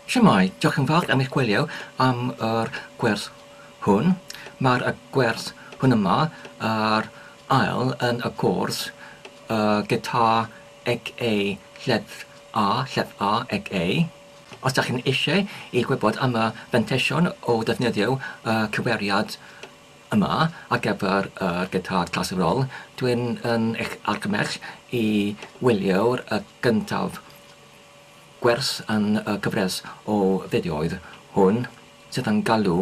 Shwmae, diolch yn fawr am eich gwylio am yr gwers hwn. Mae'r y gwers hwn yma yr ail yn y cwrs y gitar ag A lleddf A, lleddf A ag A. Os dach chi'n eisiau i gwybod am y fanteision o ddefnyddio y cyweriad yma ar gyfer yr gitar clasurol, dwi'n yn eich argymell i wylio'r y gyntaf Gwers yn y gyfres o fideoedd hwn sydd yn galw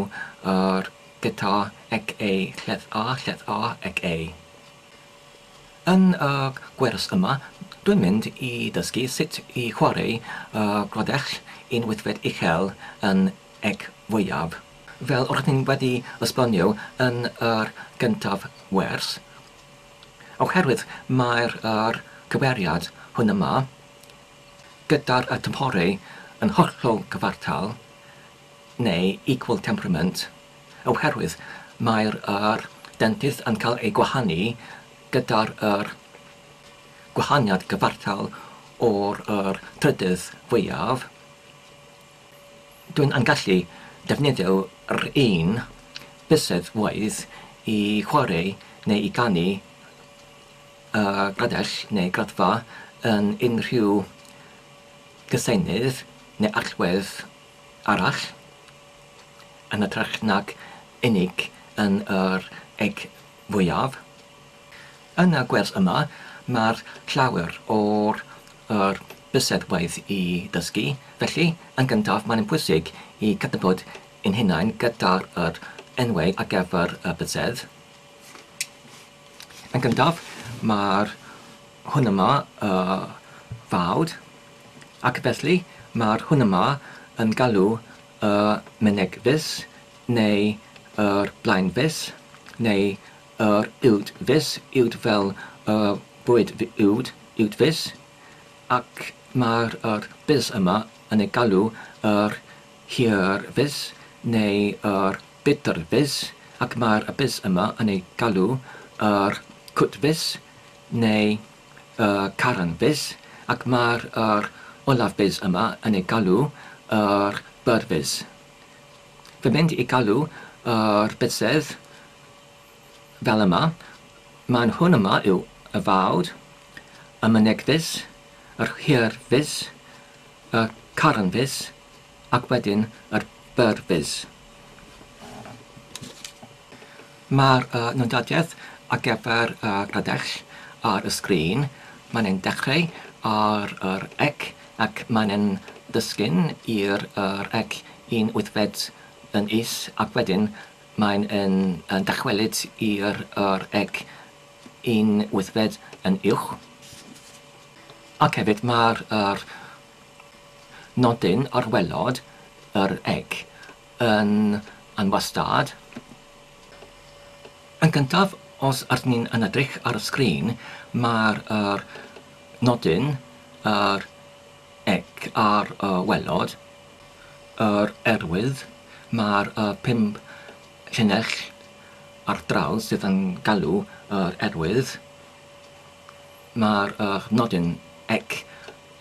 yr gitar ec A lleddf A lleddf A ec A. Yn y gwers yma, dwi'n mynd i ddysgu sut i chwarae y grodell un wythfed uchel yn ec fwyaf. Fel roeddwn i wedi esbonio yn yr gyntaf wers, oherwydd mae'r yr cyweriad hwn yma gyda'r y tymhorau yn hollol gyfartal, neu equal temperament, oherwydd mae'r yr dentydd yn cael ei gwahanu gyda'r yr gwahaniad gyfartal o'r yr trydydd fwyaf. Dwi'n yn gallu defnyddio yr un bysedd waith i chwarae neu i ganu y gradell neu graddfa yn unrhyw gyseinydd neu allwedd arall, yn hytrach nag unig yn yr eg fwyaf. Yn y gwers yma, mae'r llawer o'r yr bysedd waith i ddysgu, felly, yn gyntaf, mae'n bwysig i cydnabod ein hunain gyda'r yr enwau ar gyfer y bysedd. Yn gyntaf, mae'r hwn yma y fawd, ac felly mae'r hwn yma yn galw y mynegfys neu yr blaenfys neu yr uwdfys, uwd fel y bwyd uwd, uwdfys, ac mae'r yr bys yma yn ei galw yr hirfys neu yr budrfys, ac mae'r y bys yma yn ei galw yr cwtfys neu y caranfys, ac mae'r yr olaf bys yma yn ei galw yr byrfys. Fy mynd i galw yr bysedd fel yma, mae'n hwn yma yw y fawd, y mynegfys, yr hirfys, y caranfys, ac wedyn yr byrfys. Mae'r nodadiaeth ar gyfer y gradell ar y sgrin, mae'n ein dechrau ar yr ec ac mae'n ein dysgyn i'r yr ec un wythfed yn is ac wedyn mae'n yn yn dychwelyd i'r yr ec un wythfed yn uwch. Ac hefyd mae'r yr nodyn ar waelod yr eg yn anwastad. Yn gyntaf, os ydyn ni'n yn edrych ar y sgrin, mae'r yr nodyn yr eg ar y waelod, yr erwydd, mae'r y pump llinell ar draws sydd yn galw yr erwydd, mae'r yr nodyn ec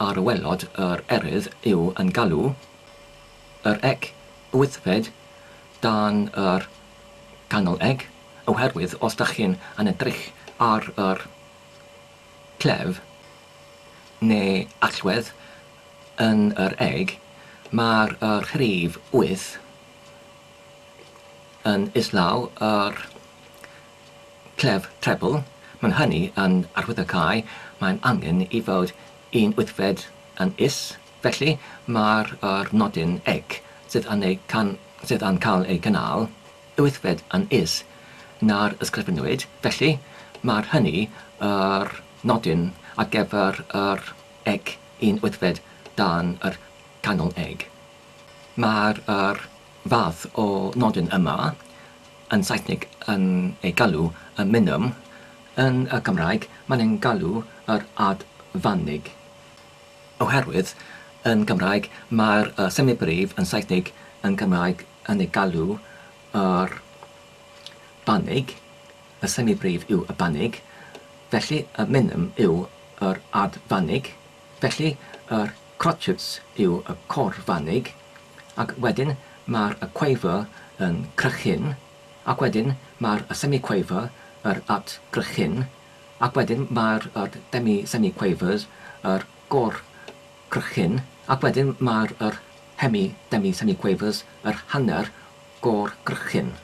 ar waelod yr erydd yw yn galw yr ec wythfed dan yr canol eg, oherwydd os dach chi'n yn edrych ar yr clef neu allwedd yn yr eg, mae'r yr rhif wyth yn islaw yr clef trebl, mae'n hynny yn arwyddocáu mae'n angen i fod un wythfed yn is, felly mae'r yr nodyn ec sydd yn ei can sydd yn cael ei gynnal wythfed yn is na'r ysgrifennwyd, felly mae'r hynny yr nodyn ar gyfer yr ec un wythfed dan yr canol eg. Mae'r yr fath o nodyn yma yn Saesneg yn ei galw y minwm, yn y Gymraeg mae'n ein galw yr adfanig. Oherwydd yn Gymraeg mae'r y semibrif yn Saesneg yn Gymraeg yn ei galw yr banig, y semibrif yw y banig, felly y minwm yw yr adfanig, felly yr crotchets yw y corfanig. Ac wedyn mae'r y quaver yn crychyn, ac wedyn mae'r y semiquaver yr at grychyn, ac wedyn mae'r yr demi-semiquavers yr gor-crychyn, ac wedyn mae'r yr hemi-demi-semiquavers yr hanner gor-grychyn.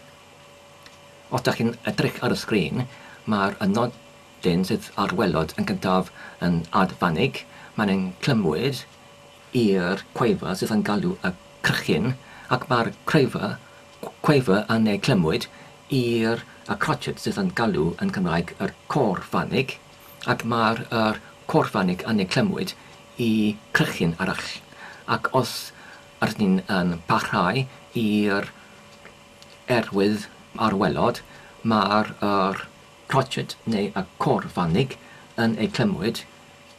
Os dach chi'n edrych ar y sgrin, mae'r y nodyn sydd ar waelod yn gyntaf yn adfanig, mae'n ein clymwyd i'r quaver sydd yn galw y crychyn, ac mae'r craver, quaver yn ei clymwyd i'r y crotchet sydd yn galw yn Cymraeg yr côr-fanig, ac mae'r yr côr-fanig yn ei clymwyd i crychyn arall. Ac os ydyn ni'n yn parhau i'r erwydd ar waelod, mae'r yr crotchet neu y côr-fanig yn ei clymwyd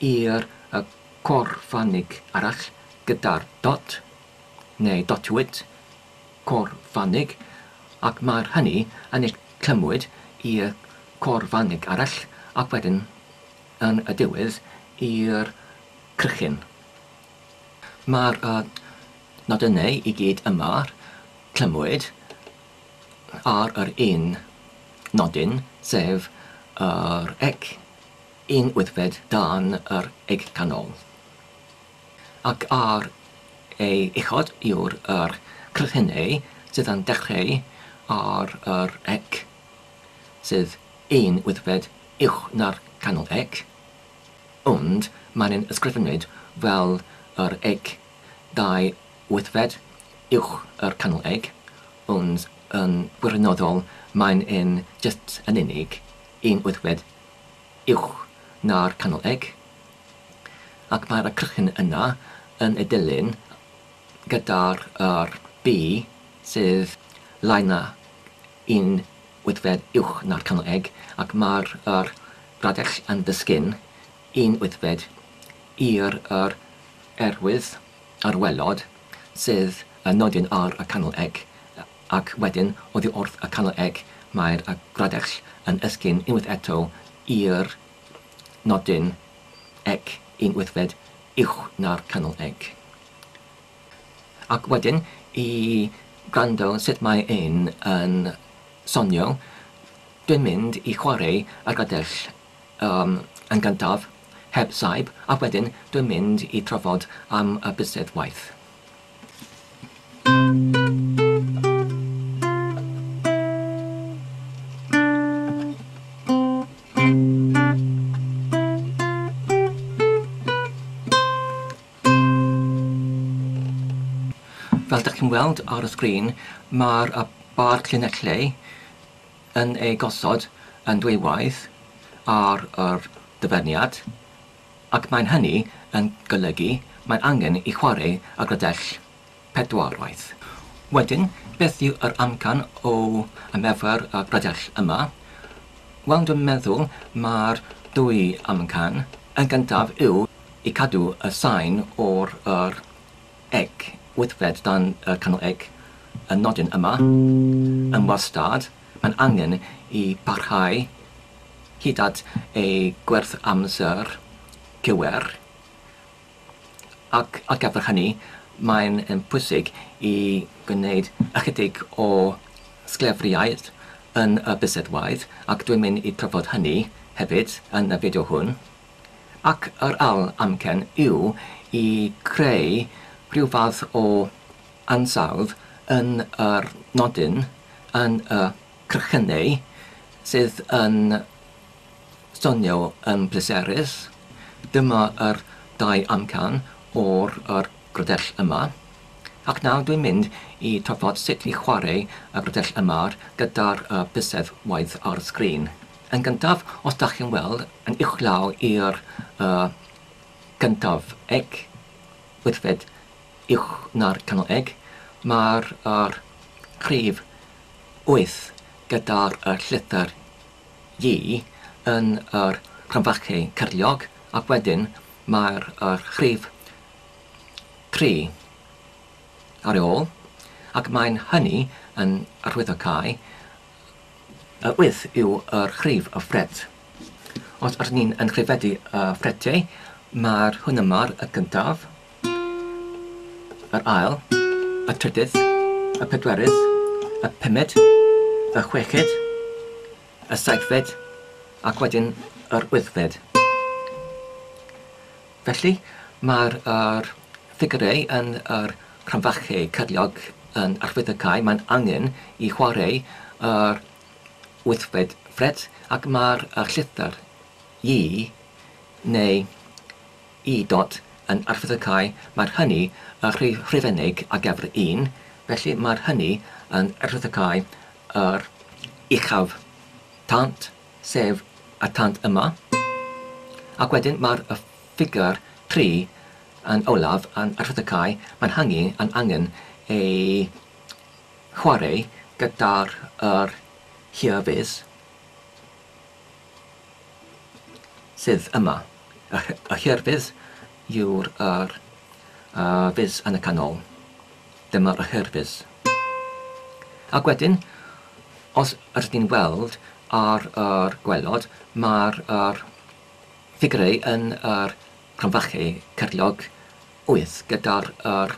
i'r y côr-fanig arall gyda'r dot, neu dotwyd, côr-fanig, ac mae'r hynny yn ei clymwyd i'r côr-fanig arall ac wedyn yn y diwedd i'r crychyn. Mae'r nodynau i gyd yma clymwyd ar yr un nodyn, sef yr ec un wythfed dan yr eg canol. Ac ar ei uchod yw'r yr crychynau sydd yn dechrau ar yr ec, sydd un wythfed uwch na'r canol ec, ond mae'n yn ysgrifenwyd fel yr ec 2 wythfed uwch yr canol eg, ond yn wirioneddol mae'n yn jyst yn unig un wythfed uwch na'r canol eg, ac mae'r crychyn yna yn ei dilyn gyda'r yr B sydd lai na un wythfed uwch na'r canol eg, ac mae'r yr radell yn disgyn un wythfed i'r yr erwydd ar waelod sydd yn nodyn ar y canol eg, ac wedyn oddi wrth y canol eg mae'r y gradell yn esgyn unwaith eto i'r nodyn eg un wythfed uwch na'r canol eg. Ac wedyn i gwrando sut mae un yn sonio, dwi'n mynd i chwarae y gradell yn gyntaf heb saib, ac wedyn dwi'n mynd i trafod am y bysedd waith. Fel dych chi'n weld ar y sgrin, mae'r bar llinellau yn ei gosod yn dwywaith ar yr dyfyniad, ac mae'n hynny yn golygu mae'n angen i chwarae y gradell pedwarwaith. Wedyn, beth yw yr amcan o ymarfer y gradell yma? Wel, dwi'n meddwl mae'r dwy amcan. Yn gyntaf yw i cadw y sain o'r yr eg wythfed dan y canol eg y nodyn yma yn wastad. Mae'n angen i parhau hyd at ei gwerth amser cywir, ac ar gyfer hynny mae'n yn pwysig i gwneud ychydig o sglefriaid yn y bysedd waith, ac dwi'n mynd i trafod hynny hefyd yn y fideo hwn. Ac yr ail amcan yw i creu rhyw fath o ansawdd yn yr nodyn, yn y crychynau, sydd yn sonio yn pleserus. Dyma yr dau amcan o'r yr gradell yma. Ac nawr dwi'n mynd i trafod sut i chwarae y gradell yma gyda'r bysedd waith ar y sgrin. Yn gyntaf, os dach chi'n weld, yn uwchlaw i'r gyntaf eg, wythfed uwch na'r canol eg, mae'r yr rhif 8 gyda'r llythyr Y yn yr cromfachu cyrliog, ac wedyn mae'r yr rhif 3 ar ei ôl, ac mae'n hynny yn arwyddocáu y 8 yw yr rhif y ffret. Os ydyn ni'n yn rhifedu y ffretiau, mae'r hwn yma'r y gyntaf, yr ail, y trydydd, y pedwerydd, y pumed, y chweched, y seithfed ac wedyn yr wythfed. Felly, mae'r yr ffigurau yn yr cromfachu cyrliog yn arwyddocau, mae'n angen i chwarae yr wythfed ffret ac mae'r y llythyr I neu I dot yn arwyddocau, mae'r hynny y rhif rhifennig ar gyfer un, felly mae'r hynny yn arwyddocau yr uchaf tant, sef y tant yma, ac wedyn mae'r y ffigur 3 yn olaf yn arwyddocau, mae'n hynny yn angen ei chwarae gyda'r yr hirfys sydd yma. Y, y hirfys yw'r yr uh, fys yn y canol. Dyma'r hirfys. Ac wedyn, os ydych chi'n weld ar yr gwaelod, mae'r yr ffigurau yn yr cromfachu cyrliog 8 gyda'r yr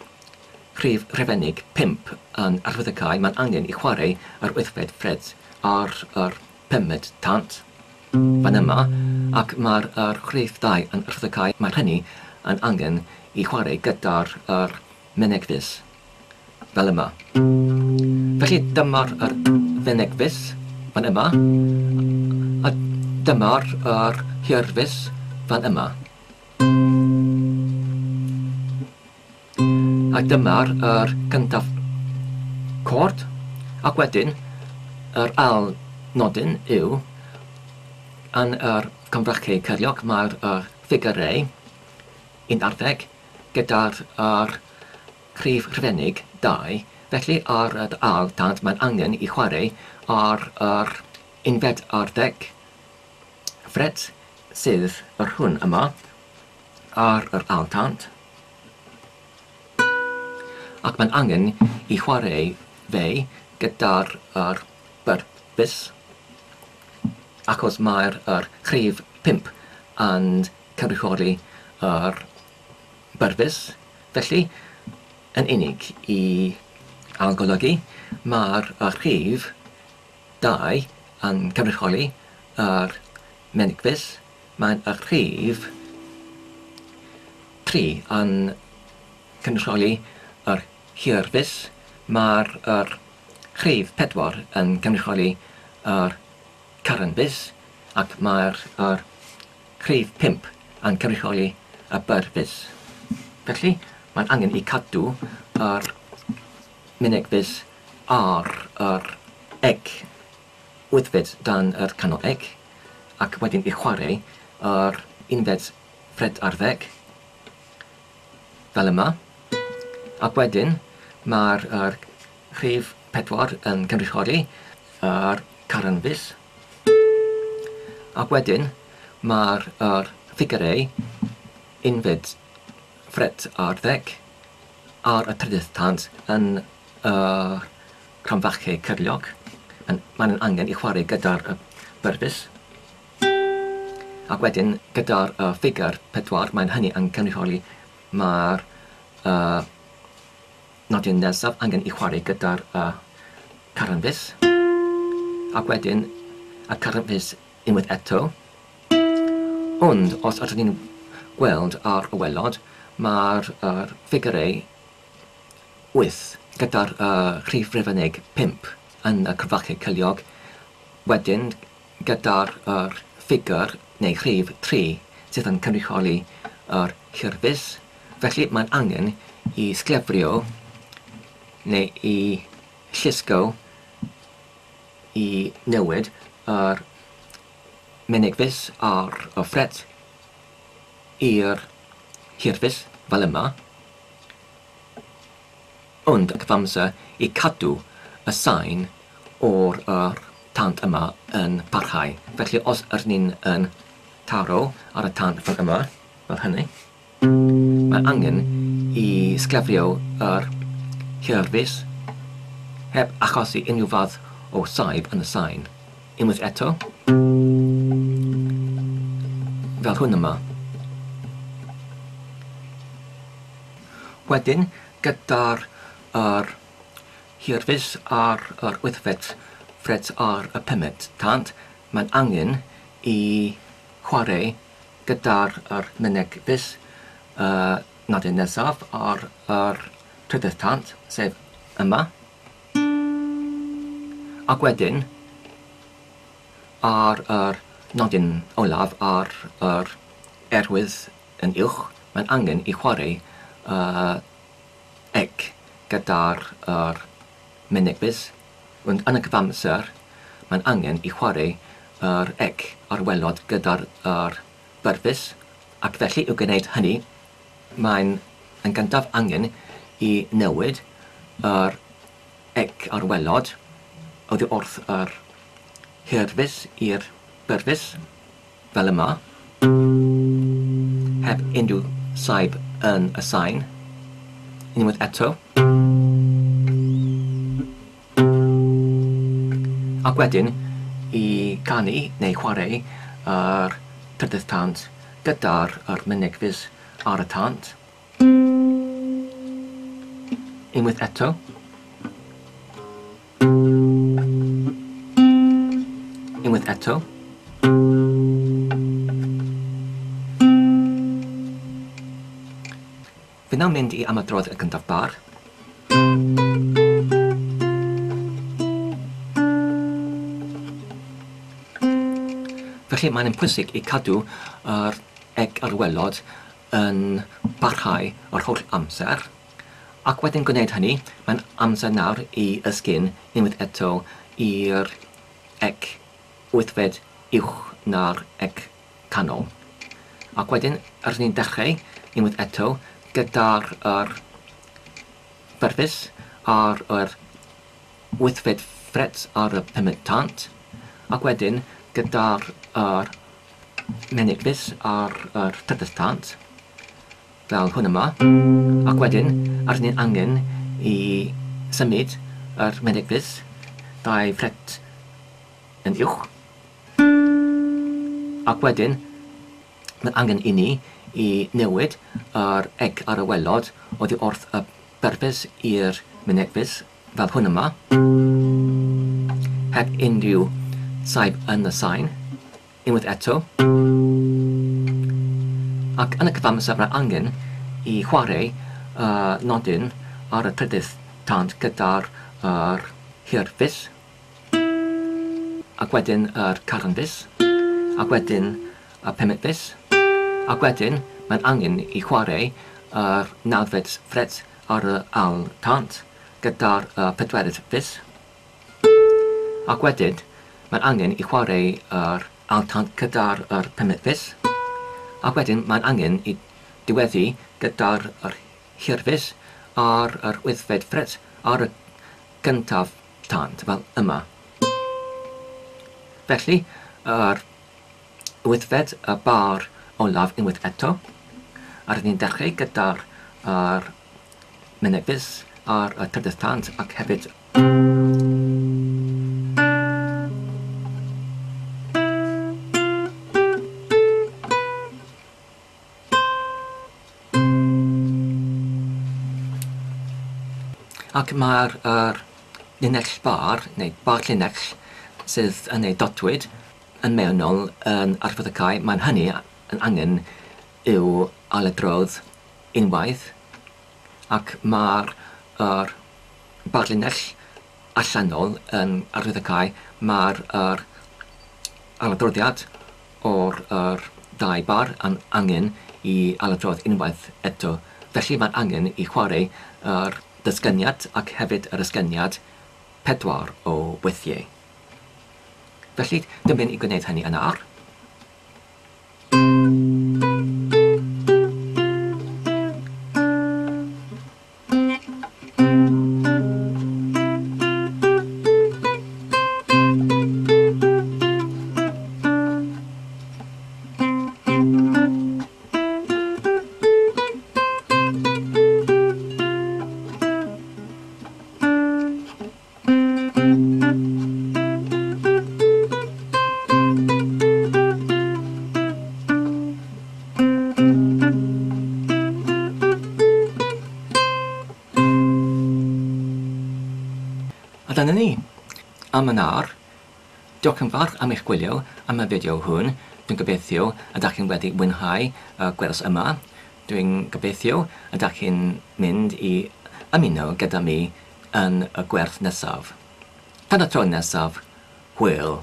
rhif rhifennig 5 yn arwyddocau, mae'n angen i chwarae yr wythfed ffret ar yr pumed tant fan yma, ac mae'r yr rhif 2 yn arwyddocau, mae'r hynny yn angen i chwarae gyda'r yr mynegfys fel yma. Felly dyma'r yr fynegfys fan yma, a dyma'r yr hirfys fan yma. A dyma'r yr cyntaf cord, ac wedyn yr ail nodyn yw yn yr cymrachu cyrliog mae'r yr ffigurau 11 gyda'r yr rhif rhifennig 2, felly ar yr ail tant mae'n angen i chwarae ar yr unfed ar ddeg ffret sydd yr hwn yma ar yr ail tant, ac mae'n angen i chwarae fe gyda'r yr byrbys, achos mae'r yr rhif 5 yn cynrychioli yr byrfys. Felly, yn unig i ailgolygu, mae'r rhif 2 yn cynrychioli yr menyg-fys, mae'n y rhif 3 yn cynrychioli yr hirfys, mae'r yr rhif 4 yn cynrychioli yr caranfys, ac mae'r yr rhif 5 yn cynrychioli y byrfys. Felly, mae'n angen i cadw yr mynegfys ar yr eg wythfed dan yr canol eg, ac wedyn i chwarae yr unfed ffret ar ddeg, fel yma. Ac wedyn mae'r yr rhif 4 yn cynrychioli yr caranfys, ac wedyn mae'r yr ffigurau unfed ffret ar ddeg ar y trydydd tant yn y cromfachu cyrliog. Mae'n angen i chwarae gyda'r byrfys. Ac wedyn gyda'r ffigur 4, mae'n hynny yn cynrychioli mae'r nodyn nesaf angen i chwarae gyda'r caranfys. Ac wedyn y caranfys unwaith eto. Ond os ydyn ni'n gweld ar y waelod, mae'r ffigurau 8 gyda'r rhif rhifennig 5 yn y cromfachu cyrliog, wedyn gyda'r ffigur neu rhif 3 sydd yn cynrychioli yr hirfys. Felly mae'n angen i sglefrio neu i llusgo i newid yr mynegfys ar y ffret i'r hirfys fel yma, ond y cyfamser i cadw y sain o'r yr tant yma yn parhau. Felly os ydyn ni'n yn taro ar y tant fel yma, fel hynny, mae angen i sglefrio yr hirfys heb achosi unrhyw fath o saib yn y sain. Unwaith eto, fel hwn yma. Wedyn, gyda'r yr hirfys ar yr wythfed ffret ar y pumed tant, mae'n angen i chwarae gyda'r yr mynegfys y nodyn nesaf ar yr trydydd tant, sef yma. Ac wedyn, ar yr nodyn olaf ar yr erwydd yn uwch, mae'n angen i chwarae eg gyda'r yr mynegfys, ond yn y cyfamser mae'n angen i chwarae yr eg ar waelod gyda'r yr byrfys, ac felly i'w gwneud hynny mae'n yn gyntaf angen i newid yr eg ar waelod oddi wrth yr hirfys i'r byrfys, fel yma, heb unrhyw saib yn y sain. Unwaith eto. Ac wedyn i canu neu chwarae yr trydydd tant gyda'r yr mynegfys ar y tant. Unwaith eto. Unwaith eto. Fi nawr mynd i ymadrodd y gyntaf bar. Felly mae'n yn pwysig i cadw yr eg ar waelod yn parhau yr holl amser. Ac wedyn gwneud hynny, mae'n amser nawr i ysgyn unwaith eto i'r eg wythfed uwch na'r eg canol. Ac wedyn, rydyn ni'n dechrau unwaith eto gyda'r yr byrfys ar yr wythfed ffret ar y pumed tant, ac wedyn gyda'r yr menyg-fys ar yr trydydd tant, fel hwn yma, ac wedyn rydyn ni'n angen i symud yr menyg-fys 2 ffret yn uwch, ac wedyn mae angen i ni i newid yr eg ar y waelod oddi wrth y byrfys i'r mynegfys fel hwn yma, heb unrhyw saib yn y sain, unwaith eto. Ac yn y cyfamser mae angen i chwarae y nodyn ar y trydydd tant gyda'r yr hirfys, ac wedyn yr caranfys, ac wedyn y pumed fys, ac wedyn mae'n angen i chwarae yr nawfed ffret ar y ail tant gyda'r pedwerydd fys, ac wedyn mae'n angen i chwarae yr ail tant gyda'r yr pumed fys, ac wedyn mae'n angen i diweddu gyda'r yr hirfys ar yr wythfed ffret ar y gyntaf tant, fel yma. Felly, yr wythfed y bar olaf unwaith eto, a rydyn ni'n dechrau gyda'r yr mynegfys ar y trydydd tant ac hefyd ac mae'r yr linell bar, neu bar llinell, sydd yn ei dodwyd yn mewnol yn arwyddocau, mae'n hynny yn angen i'w ailadrodd unwaith, ac mae'r yr bar linell allanol yn arwyddocau, mae'r yr ailadroddiad o'r yr ddau bar yn angen i ailadrodd unwaith eto. Felly mae'n angen i chwarae yr dysgyniad ac hefyd yr ysgyniad 4 o weithiau. Felly, dwi'n mynd i gwneud hynny yn awr. A dyna ni. Am yn awr, diolch yn fawr am eich gwylio am y fideo hwn. Dwi'n gobeithio y dach chi'n wedi mwynhau y gwers yma. Dwi'n gobeithio y dach chi'n mynd i ymuno gyda mi yn y gwerth nesaf. Tan y tro nesaf, hwyl!